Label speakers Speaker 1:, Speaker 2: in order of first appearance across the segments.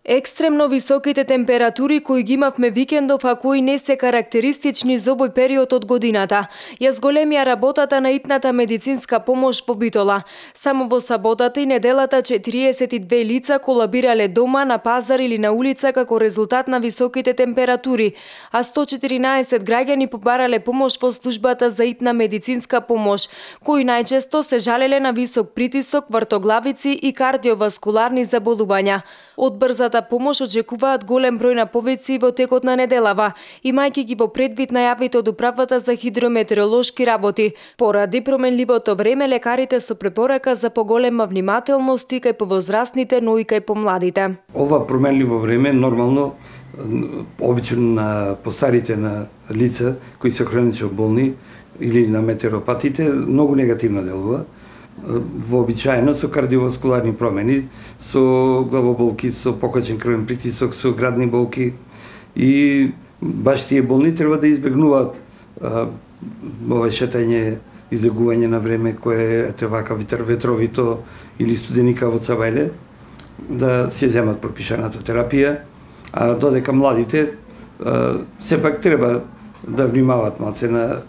Speaker 1: Екстремно високите температури кои ги имавме викендов, а кои не се карактеристични за овој период од годината, ја зголемија работата на итната медицинска помош во Битола. Само во саботата и неделата 42 лица колабирале дома, на пазар или на улица како резултат на високите температури, а 114 граѓани побарале помош во службата за итна медицинска помош, кои најчесто се жалеле на висок притисок, вртоглавици и кардиоваскуларни заболувања. Од брзата помош очекуваат голем број на повици во текот на неделава, имајќи ги во предвид најавите од Управата за хидрометеоролошки работи. Поради променливото време, лекарите со препорака за поголема внимателност и кај повозрастните, но и кај помладите.
Speaker 2: Ова променливо време нормално обично на постарите на лица кои се хронично болни или на метеоропатите многу негативно делува. Вообичаено со кардиоваскуларни промени, со главоболки, со покачен крвен притисок, со градни болки, и баш тие болни треба да избегнуваат овој шетање, излегување на време кое е вака ветровито или студеника во Цавајле, да се земат пропишаната терапија, а додека младите сепак треба да внимаваат малце на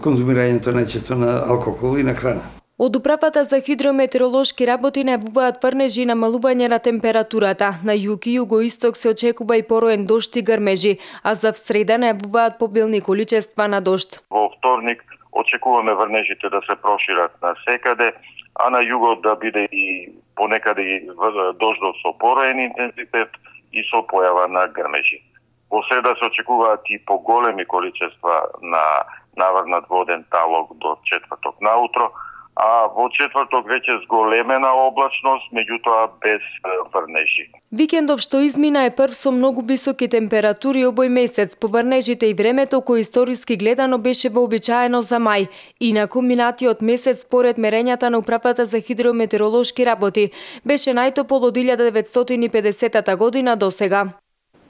Speaker 2: конзумирањето најчесто на алкохол и на храна.
Speaker 1: Од Управата за хидрометеоролошки работи најавуваат прнежи и намалување на температурата. На југ и југоисток се очекува и пороен дожд и грмежи, а за среда најавуваат побилни количества на дожд.
Speaker 3: Во вторник очекуваме врнежите да се прошират на секаде, а на југот да биде и понекаде и дождов со пороен интензитет и со појава на грмежи. Во среда се очекуваат и поголеми количества на наврнат воден талог до четврток наутро, а во четврток веќе зголемена облачност, меѓутоа без врнежи.
Speaker 1: Викендов што измина е прв со многу високи температури овој месец. По врнежите и времето кој историски гледано беше вообичаено за мај. Инаку минатиот месец според мерењата на Управата за хидрометеоролошки работи беше најтопол од 1950 година досега.